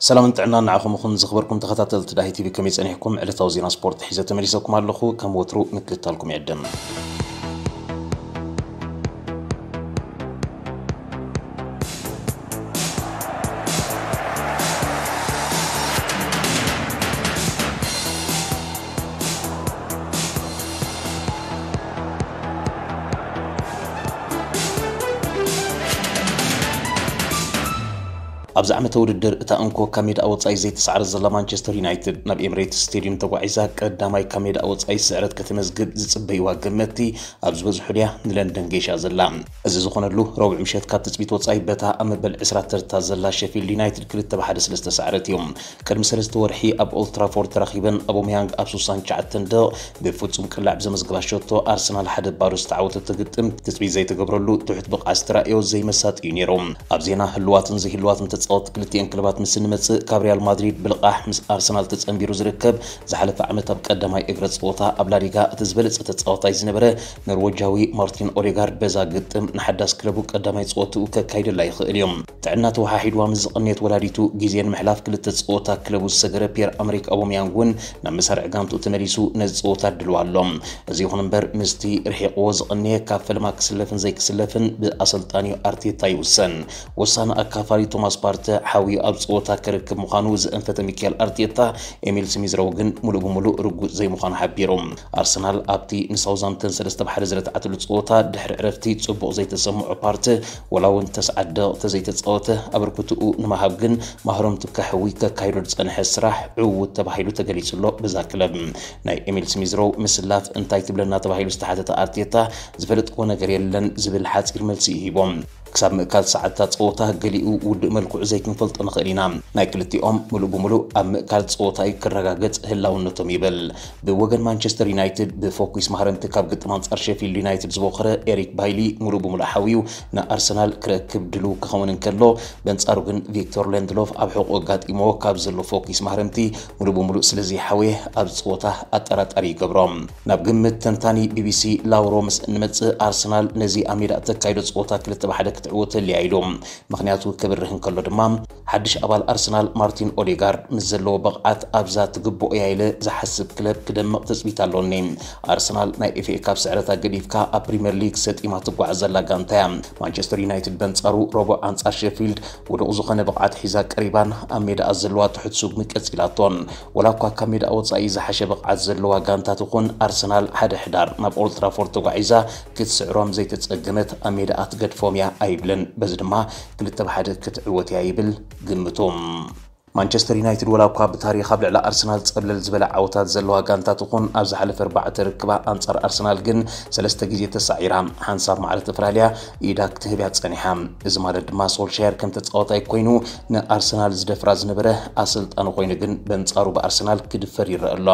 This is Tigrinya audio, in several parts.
ሰላምን ጥዕናን ንዓኹም ይኹን ዝኽበርኩም ተኸታተልቲ ዳሂ ቲቪ፣ ከመይ ጸኒሕኩም? ዕለታዊ ዜና ስፖርት ሒዘ ተመሊሰኩም ኣለኹ። ከም ወትሩ ምክትታልኩም ይዕድም። ኣብዚ ዓመተ ውድድር እታ እንኮ ካብ ሜዳ ወጻኢ ዘይተሳዕረት ዘላ ማንቸስተር ዩናይትድ ናብ ኤምሬትስ ስቴድዩም ተጓዒዛ ቀዳማይ ካብ ሜዳ ወጻኢ ስዕረት ከተመዝግብ ዝጽበይዋ ገመትቲ ኣብ ዝበዝሑ ድያ ንለንደን ገይሻ ዘላ? እዚ ዝኾነሉ ረቡዕ ምሸት ካብ ትጽቢት ወጻኢ በታ ኣብ መበል ዕስራ ተርታ ዘላ ሸፊልድ ዩናይትድ ክልተ ብ ሓደ ስለ ዝተሳዕረት እዩ። ቅድሚ ሰለስተ ወርሒ ኣብ ኦልትራፎርድ ተራኺበን ኣቦመያንግ ኣብ ሱሳን ትሽዓተን ደቕ ብፍጹም ቅላዕ ብዘመዝግባ ሸቶ ኣርሰናል ሓደ ባዶ ዝተዓወተቶ ግጥም ትጽቢት ዘይተገብረሉ ትሑት ብቕዓት ዝተራእዮ ዘይመሳጢ እዩ ነይሩ። ኣብ ዜና ህልዋትን ዘይህልዋትን ተጻወትቲ ክልቲኤን ክለባት ምስ እንመጽእ፣ ካብ ሪያል ማድሪድ ብልቓሕ ምስ ኣርሰናል ተጸንቢሩ ዝርከብ ዝሓለፈ ዓመት ኣብ ቀዳማይ እግረ ጸወታ ኣብ ላሊጋ እቲ ዝበለጸ ተጻዋታይ ዝነበረ ኖርወጃዊ ማርቲን ኦዴጋርድ በዛ ግጥም ንሓዳስ ክለቡ ቀዳማይ ጸወትኡ ከካይደላ ይኽእል እዩ። ጥዕና ተወሓሒድዋ ምስ ዝቐነየት ወላዲቱ ግዜ ንምሕላፍ ክልተ ጸወታ ክለቡ ዝሰገረ ፒየር ኣመሪክ ኣቦመያንግ እውን ናብ መሳርዕ ጋንትኡ ተመሊሱ ነዚ ጸወታ ድልዋ ኣሎ። እዚ ይኹን እምበር ምስቲ ርሒቕዎ ዝቐነየ ካብ ፈለማ ክስለፍን ዘይክስለፍን ብኣሰልጣኒኡ ኣርቴታ ይውሰን። ወሳኒ ኣካፋሊ ቶማስ ፓርተ ሓውዩ ኣብ ጸወታ ክርክብ ምዃኑ ዘእንፈተ ሚካኤል ኣርቴታ፣ ኤሚል ስሚዝሮው ግን ሙሉእ ብሙሉእ ርጉጽ ዘይምዃኑ ሓቢሩ። ኣርሰናል ኣብቲ ንሳውዛምተን ሰለስተ ብ ሓደ ዝረትዓትሉ ጸወታ ድሕሪ ዕረፍቲ ጽቡቕ ዘይተሰምዖ ፓርተ፣ ወላ እውን ተስዓት ደቕተ ዘይተጻወተ፣ ኣበርክትኡ ንምሃብ ግን ማህረምቱ ከሕዊ ከካይዶ ዝጸንሐ ስራሕ ዕዉት ተባሂሉ ተገሊጹ ኣሎ። በዛ ክለብ ናይ ኤሚል ስሚዝሮው ምስላፍ እንታይ ትብለና ተባሂሉ ዝተሓተተ ኣርቴታ፣ ዝፈለጥክዎ ነገር የለን ዝብል ሓጺር መልሲ እዩ ሂቦም። ክሳብ ምእካል ሰዓታት ጸወታ ገሊኡ ውዱእ መልክዑ ዘይክንፈልጦ ንኽእል ኢና። ናይ ክልቲኦም ምሉእ ብምሉእ ኣብ ምእካል ጸወታ እዩ ክረጋገጽ ህላውነቶም ይብል። ብወገን ማንቸስተር ዩናይትድ ብፎኪስ ማህረምቲ ካብ ግጥም ኣንጻር ሸፊልድ ዩናይትድ ዝበኾረ ኤሪክ ባይሊ ምሉእ ብምሉእ ሓውዩ ንኣርሰናል ክረክብ ድሉው ክኸውን እንከሎ፣ በንጻሩ ግን ቪክቶር ሌንድሎፍ ኣብ ሕቖ ኣጋጢምዎ ካብ ዘሎ ፎኪስ ማህረምቲ ምሉእ ብምሉእ ስለ ዘይሓወየ ኣብ ጸወታ ኣጠራጣሪ ይገብሮ። ናብ ግምት ተንታኒ ቢቢሲ ላውሮ ምስ እንመጽእ፣ ኣርሰናል ነዚ ኣብ ሜዳ እተካይዶ ጸወታ ክልተ ብ ሓደ ክትዕወት ተልያ ኢሉ። ምኽንያቱ ክብርህ እንከሎ ድማ፣ ሓድሽ ኣባል ኣርሰናል ማርቲን ኦዴጋርድ ምስ ዘለዎ ብቕዓት ኣብዛ ትግብኦ እያ ኢለ ዝሓስብ ክለብ ክደምቕ ትጽቢት ኣሎኒ። ኣርሰናል ናይ ኤፍኤ ካፕ ስዕረታ ገዲፍካ ኣብ ፕሪምየር ሊግ ሰጢማ ትጓዓዝ ዘላ ጋንታ እያ። ማንቸስተር ዩናይትድ በንጻሩ ረቡዕ ኣንጻር ሼፊልድ ውዱቕ ዝኾነ ብቕዓት ሒዛ ቀሪባን ኣብ ሜዳኣ ዘለዋ ትሑት ስጉሚ ቀጺላቶን። ወላ እኳ ካብ ሜዳ ወጻኢ ዝሓሸ ብቕዓት ዘለዋ ጋንታ ትኹን፣ ኣርሰናል ሓደ ሕዳር ናብ ኦልትራፎርድ ተጓዒዛ ክትስዕሮም ዘይተጸገመት ኣብ ሜዳኣ ትገድፎም እያ ኣይብልን። በዚ ድማ ክልተ ብ ሓደ ክትዕወት እያ ይብል ግምቱ። ማንቸስተር ዩናይትድ ወላ እኳ ብታሪኽ ኣብ ልዕሊ ኣርሰናል ጸብለል ዝበለ ዓወታት ዘለዋ ጋንታ ትኹን፣ ኣብ ዝሓለፈ ኣርባዕተ ርክባ ኣንጻር ኣርሰናል ግን ሰለስተ ግዜ ተሳዒራ፣ ሓንሳብ ማዕረ ተፈላልያ ኢዳ ክትህብ እያ ጸኒሓ። እዚ ማለት ድማ ሶልሻየር ከም ተጻዋታይ ኮይኑ ንኣርሰናል ዝደፍራ ዝነበረ ኣሰልጣኒ ኮይኑ ግን በንጻሩ ብኣርሰናል ክድፈር ይረአ ኣሎ።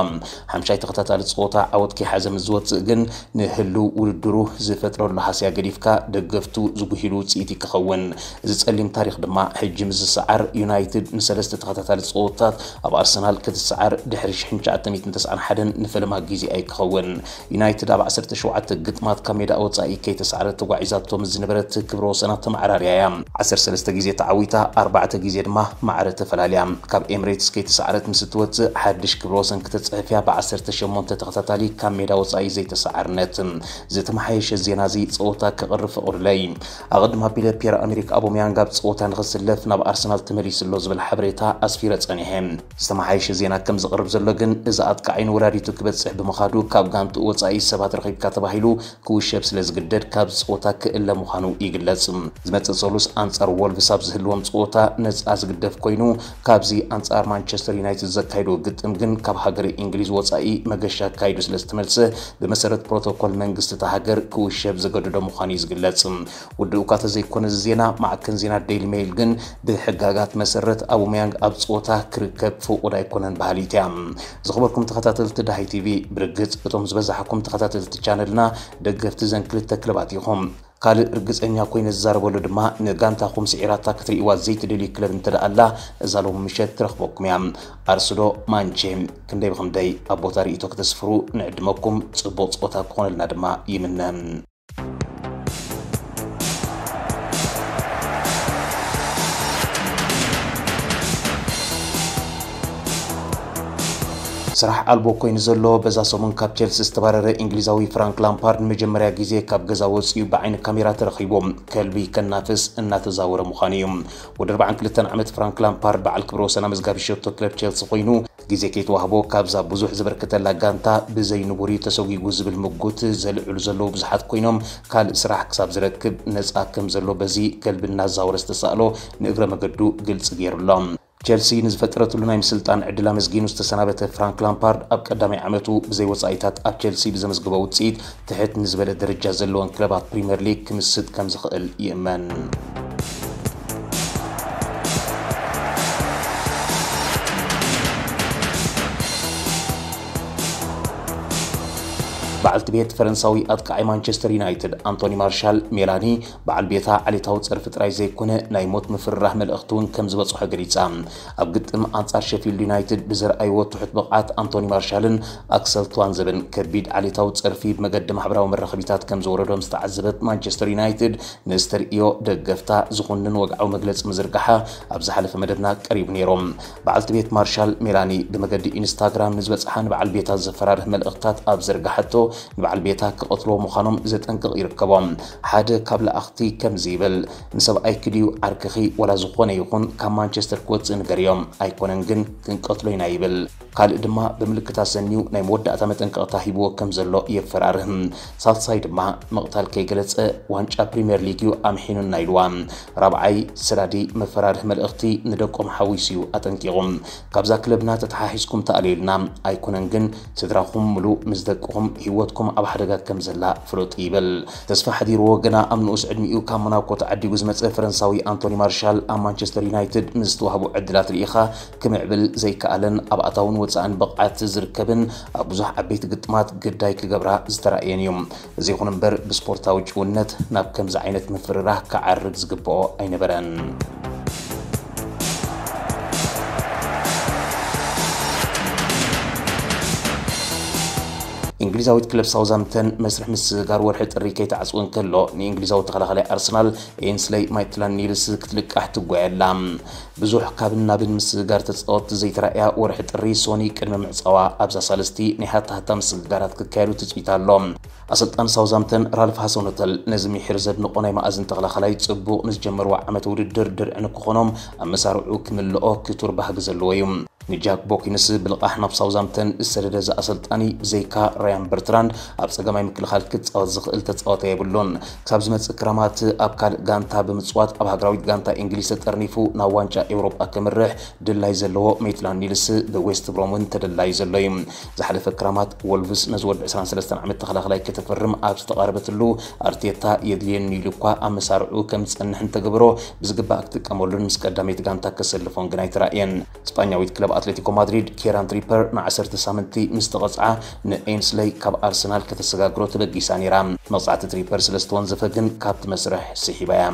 ሓምሻይ ተኸታታሊ ጸወታ ዓወት ከይሓዘ ምስ ዝወጽእ ግን ንህልው ውድድሩ ዝፈጥረሉ ሃስያ ገዲፍካ ደገፍቱ ዝጉሂሉ ውጽኢት እዩ ክኸውን። እዚ ጸሊም ታሪኽ ድማ ሕጂ ምስ ዝሰዓር፣ ዩናይትድ ንሰለስተ ተኸታታሊ ጸወታት ኣብ ኣርሰናል ክትሰዓር ድሕሪ ሽሕን ትሽዓተ ሚእትን ተስዓን ሓደን ንፈለማ ግዜ ኣይክኸውን። ዩናይትድ ኣብ ዓሰርተ ሸውዓተ ግጥማት ካብ ሜዳ ወጻኢ ከይተሰዓረት ተጓዒዛቶ ምስ ዝነበረት ክብረ ወሰና ተመዓራርያ እያ። ዓሰርተ ሰለስተ ግዜ ተዓዊታ፣ ኣርባዕተ ግዜ ድማ ማዕረ ተፈላልያ። ካብ ኤምሬትስ ከይተሰዓረት ምስ እትወጽእ ሓድሽ ክብረ ወሰን ክተጽሕፍ እያ ብ ዓሰርተ ሸሞንተ ተኸታታሊ ካብ ሜዳ ወጻኢ ዘይተሰዓርነት። ዝተመሓየሸ ዜና እዚ ጸወታ ክቕርብ ፈቕዱለይ። ኣቐድም ኣቢለ ፒየር ኣሜሪክ ኣቦመያንግ ኣብ ጸወታ ንኽስለፍ ናብ ኣርሰናል ተመሊሱ ኣሎ ዝብል ሓበሬታ ኣስፊረ ጸኒሐ። ዝተመሓየሸ ዜና ከም ዝቕርብ ዘሎ ግን፣ እዚ ኣጥቃዓይ ንወላዲቱ ክበጽሕ ብምኻዱ ካብ ጋንትኡ ወጻኢ ሰባት ረኺብካ ተባሂሉ ክውሸብ ስለ ዝግደድ ካብ ጸወታ ክእለ ምዃኑ ይግለጽ። ዝመጽእ ሰሉስ ኣንጻር ወልቭስ ኣብ ዝህልዎም ጸወታ ነጻ ዝግደፍ ኮይኑ፣ ካብዚ ኣንጻር ማንቸስተር ዩናይትድ ዘካይዶ ግጥም ግን ካብ ሃገረ እንግሊዝ ወጻኢ መገሻ ኣካይዱ ስለ ዝተመልሰ፣ ብመሰረት ፕሮቶኮል መንግስቲ እታ ሃገር ክውሸብ ዘገድዶ ምዃኑ እዩ ዝግለጽ። ውድእ እኳ ተዘይኮነ እዚ ዜና፣ ማዕከን ዜና ዴይሊ ሜይል ግን ብሕጋጋት መሰረት ኣቡመያንግ ኣብ ጸወታ ክርከብ ፍቑድ ኣይኮነን በሃሊት እያ። ዝኽበርኩም ተኸታተልቲ ዳሃይ ቲቪ፣ ብርግጽ እቶም ዝበዛሕኩም ተኸታተልቲ ቻነልና ደገፍቲ ዘን ክልተ ክለባት ኢኹም። ካልእ ርግጸኛ ኮይነ ዝዛረበሉ ድማ፣ ንጋንታኹም ስዒራታ ክትርእይዋ ዘይትደልዩ ክለብ እንተ ደኣ ኣላ፣ እዛ ሎሚ ምሸት ትረኽበኩም እያ። ኣርስ ዶ ማንቼ፣ ክንደይ ብኽንደይ ኣብ ቦታ ርእይቶ ከተስፍሩ ንዕድመኩም፣ ጽቡቕ ጸወታ ክኾነልና ድማ ይምነ። ስራሕ ኣልቦ ኮይኑ ዘሎ በዛ ሰሙን ካብ ቸልሲ ዝተባረረ እንግሊዛዊ ፍራንክ ላምፓርድ ንመጀመርያ ግዜ ካብ ገዛ ወፂኡ ብዓይኒ ካሜራ ተረኺቡ ከልቢ ከናፍስ እናተዛወረ ምዃኑ እዩ። ወዲ ኣርባዓን ክልተን ዓመት ፍራንክ ላምፓርድ በዓል ክብረ ወሰን ኣመዝጋቢ ሸቶ ክለብ ቸልሲ ኮይኑ ግዜ ከይተዋህቦ ካብዛ ብዙሕ ዝበርከተላ ጋንታ ብዘይ ንቡር እዩ ተሰጒጉ ዝብል ምጉት ዘልዕሉ ዘለዉ ብዙሓት ኮይኖም ካልእ ስራሕ ክሳብ ዝረክብ ነፃ ከም ዘሎ በዚ ከልቢ እናዛወረ ዝተሳእሎ ንእግረ መገዱ ግልፂ ገይሩ ኣሎ። ቸልሲ ንዝፈጠረትሉ ናይ ምስልጣን ዕድል ኣመስጊኑ ዝተሰናበተ ፍራንክ ላምፓርድ ኣብ ቀዳማይ ዓመቱ ብዘይ ወጻኢታት ኣብ ቸልሲ ብዘመዝግቦ ውጽኢት ትሕት ንዝበለ ደረጃ ዘለወን ክለባት ፕሪምየር ሊግ ክምስጥ ከም ዝኽእል ይእመን። በዓልቲ ቤት ፈረንሳዊ ኣጥቃዓይ ማንቸስተር ዩናይትድ ኣንቶኒ ማርሻል ሜላኒ በዓል ቤታ ዓሌታዊ ጸርፊ ጥራይ ዘይኮነ ናይ ሞት ምፍርራህ መልእኽቲ እውን ከም ዝበጽሖ ገሊጻ። ኣብ ግጥም ኣንጻር ሸፊልድ ዩናይትድ ብዘርኣይዎ ትሑት ብቕዓት ኣንቶኒ ማርሻልን ኣክሰል ቱዋንዘብን ከቢድ ዓሌታዊ ጸርፊ ብመገዲ ማሕበራዊ መራኸቢታት ከም ዘወረዶም ዝተዓዘበት ማንቸስተር ዩናይትድ ንዝተርእዮ ደገፍታ ዝኹንን ወግዓዊ መግለጺ ምዝርጋሓ ኣብ ዝሓለፈ መደብና ቀሪቡ ነይሩ። በዓልቲ ቤት ማርሻል ሜላኒ ብመገዲ ኢንስታግራም ንዝበጽሓ ንበዓል ቤታ ዘፈራርህ መልእኽትታት ኣብ ዘርጋሓቶ ንበዓል ቤታ ክቐትልዎ ምዃኖም ዘጠንቅቕ ይርከቦም። ሓደ ካብ ለኣኽቲ ከምዚ ይብል፣ ንሰብኣይኪ ድዩ ዓርክኺ ዋላ ዝኾነ ይኹን ካብ ማንቸስተር ክወጽእ ንገርዮም፣ ኣይኮነን ግን ክንቀትሎ ኢና ይብል። ካልእ ድማ ብምልክት ኣሰንዩ ናይ መወዳእታ መጠንቀቕታ ሂብዎ ከም ዘሎ የፈራርህ። ሳልሳይ ድማ ምቕታል ከይገለጸ ዋንጫ ፕሪምየር ሊግ እዩ ኣምሒኑና ኢልዋ። ራብዓይ ሰዳዲ መፈራርህ መልእኽቲ ንደቆም ሓዊሱ እዩ ኣጠንቂቑ። ካብዛ ክለብና ተተሓሒዝኩም ተኣለዩልና ኣይኮነን ግን ስድራኹም ምሉእ ምስ ደቅኹም ህይወትኩም ኣብ ሓደጋ ከም ዘላ ፍለጡ ይብል። ተስፋ ሓዲርዎ ገና ኣብ ንኡስ ዕድሚኡ ካብ ሞናኮ ተዓዲጉ ዝመጸ ፈረንሳዊ ኣንቶኒ ማርሻል ኣብ ማንቸስተር ዩናይትድ ምስ ዝተዋህቡ ዕድላት ርኢኻ ክምዕብል ዘይከኣለን ኣብ ኣታውን ወጻእን ብቕዓት ዝርከብን ኣብ ብዙሕ ዓበይቲ ግጥማት ግዳይ ክገብራ ዝተራእየን እዩ። እዚ ይኹን እምበር ብስፖርታዊ ጭውነት ናብ ከምዚ ዓይነት ምፍርራህ ክዓርግ ዝግብኦ ኣይነበረን። እንግሊዛዊት ክለብ ሳውዛምተን መስርሕ ምስግጋር ወርሒ ጥሪ ከይተዓጽው እንከሎ ንእንግሊዛዊ ተኸላኻላይ ኣርሰናል ኤንስለይ ማይትላን ኒልስ ክትልቃሕ ትጓየ ኣላ። ብዙሕ ካብን ናብን ምስግጋር ተጻወትቲ ዘይተራእያ ወርሒ ጥሪ ሶኒ ቅድሚ ምዕጻዋ ኣብዛ ሳልስቲ ናይ ሃታሃታ ምስግጋራት ክካየዱ ትጽቢት ኣሎ። ኣሰልጣኒ ሳውዛምተን ራልፍ ሃሰኖተል ነዚ ምሒር ዘድንቖ ናይ መኣዝን ተኸላኻላይ ጽቡቕ ንዝጀመርዎ ዓመት ውድድር ድርዒ ንክኾኖም ኣብ መሳርዑ ክምልኦ ክቱር ባህጊ ዘለዎ እዩ። ንጃክ ቦኪንስ ብልቓሕ ናብ ሳውዛምተን ዝሰደደ እዚ ኣሰልጣኒ ብዘይካ ራያን በርትራንድ ኣብ ጸገማይ ምክልኻል ክጻወት ዝኽእል ተጻዋታይ የብሉን። ክሳብ ዝመጽእ ክረማት ኣብ ካልእ ጋንታ ብምጽዋት ኣብ ሃገራዊት ጋንታ እንግሊዝ ተጠርኒፉ ናብ ዋንጫ ኤውሮጳ ክምርሕ ድላይ ዘለዎ ሜትላን ኒልስ ብዌስት ብሮም እውን ተደላዩ ዘሎ እዩ። ዝሓለፈ ክረማት ወልቭስ ነዚ ወዲ ዕስራን ሰለስተን ዓመት ተኸላኻላይ ከተፈርም ኣብ ዝተቓረበትሉ ኣርቴታ የድልየኒ ኢሉ እኳ ኣብ መሳርዑ ከም ዝጸንሕ እንተገበሮ ብዝግባእ ክጥቀመሉን ምስ ቀዳመይቲ ጋንታ ከሰልፎን ግን ኣይተራእየን። ስጳኛዊት ክለብ ኣትሌቲኮ ማድሪድ ኬራን ትሪፐር ንዓሰርተ ሳምንቲ ምስ ተቐጽዓ ንኤንስለይ ካብ ኣርሰናል ከተሰጋግሮ ተበጊሳ ነይራ። መቕጻዕቲ ትሪፐር ስለ ዝተወንዘፈ ግን ካብቲ መስርሕ ስሒባ እያ።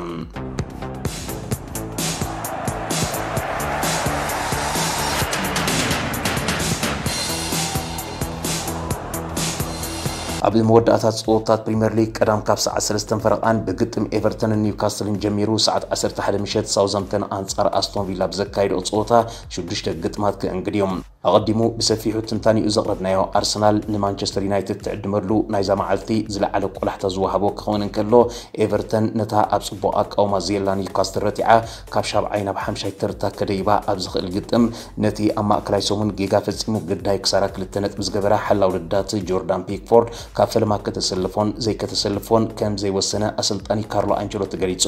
ኣብ መወዳእታ ጸወታት ፕሪምየር ሊግ ቀዳም ካብ ሰዓት ሰለስተን ፈረቓን ብግጥም ኤቨርተንን ኒውካስትልን ጀሚሩ ሰዓት ዓሰርተ ሓደ ምሸት ሳውዛምተን ኣንጻር ኣስቶን ቪላ ብዘካየድኦ ጸወታ ሽዱሽተ ግጥማት ክእንግድ እዮም። ኣቐዲሙ ብሰፊሑ ትንታኒኡ ዘቕረብናዮ ኣርሰናል ንማንቸስተር ዩናይትድ ትዕድመሉ ናይዛ መዓልቲ ዝለዓለ ቆላሕታ ዝወሃቦ ክኸውን እንከሎ ኤቨርተን ነታ ኣብ ጽቡቕ ኣቃውማ ዘየላ ኒውካስትል ረቲዓ ካብ ሻብዓይ ናብ ሓምሻይ ተርታ ከደይባ ኣብ ዝኽእል ግጥም ነቲ ኣብ ማእከላይ ሰሙን ጌጋ ፈጺሙ ግዳይ ክሳራ ክልተ ነጥቢ ዝገበረ ሓላው ልዳት ጆርዳን ፒክፎርድ ካብ ፈለማ ከተሰልፎን ዘይከተሰልፎን ከም ዘይወሰነ ኣሰልጣኒ ካርሎ ኣንቸሎቲ ገሊጹ።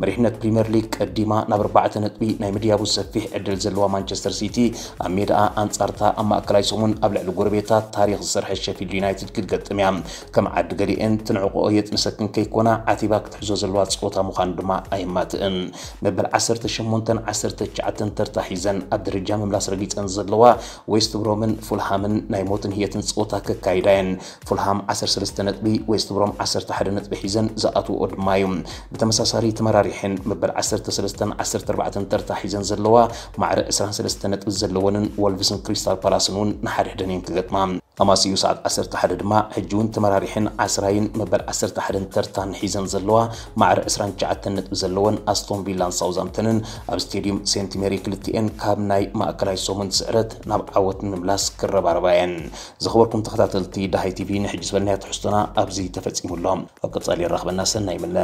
መሪሕነት ፕሪምየር ሊግ ቀዲማ ናብ ኣርባዕተ ነጥቢ ናይ ምድያቡ ሰፊሕ ዕድል ዘለዋ ማንቸስተር ሲቲ ኣብ ሜዳኣ ኣንጻርታ ኣብ ማእከላይ ሰሙን ኣብ ልዕሊ ጎረቤታት ታሪኽ ዝሰርሐ ሸፊልድ ዩናይትድ ክትገጥም እያ። ከም ዓዲ ገሊኤን ትንዕቆ የጥንሰክን ከይኮና ዓቲባ ክትሕዞ ዘለዋ ጸወታ ምዃኑ ድማ ኣይማትእን። መበል ዓሰርተ ሸሞንተን ዓሰርተ ትሽዓተን ተርታ ሒዘን ኣብ ደረጃ ምምላስ ረጊጸን ዘለዋ ዌስት ብሮምን ፉልሃምን ናይ ሞትን ህየትን ጸወታ ከካይዳ እየን። ፉልሃም ዓሰርተ ሰለስተ ነጥቢ፣ ዌስት ብሮም ዓሰርተ ሓደ ነጥቢ ሒዘን ዝኣትውኦ ድማ እዩ። ብተመሳሳሊ ተመራሪሐን መበል ዓሰርተ ሰለስተን ዓሰርተ ኣርባዕተን ተርታ ሒዘን ዘለዋ ማዕረ ዕስራን ሰለስተን ነጥቢ ዘለወንን ወልቭስን ክሪስታል ፓላስን እውን ንሓድሕደን እየን ክገጥማ። ኣማሲኡ ሰዓት ዓሰርተ ሓደ ድማ ሕጂ እውን ተመራሪሕን ዓስራይን መበል ዓሰርተ ሓደን ተርታን ሒዘን ዘለዋ ማዕረ ዕስራን ትሽዓተን ነጥቢ ዘለወን ኣስቶን ቪላን ሳውዛምተንን ኣብ ስቴዲየም ሴንት ሜሪ ክልቲኤን ካብ ናይ ማእከላይ ሰሙን ስዕረት ናብ ዓወት ንምምላስ ክረባረባ እየን። ዝኸበርኩም ተኸታተልቲ ደሃይ ቲቪ፣ ንሕጂ ዝበልናዮ ትሕዝቶና ኣብዚ ተፈጺሙ ኣሎ። ኣብ ቀጻሊ የራኽበና፣ ሰናይ ምነ።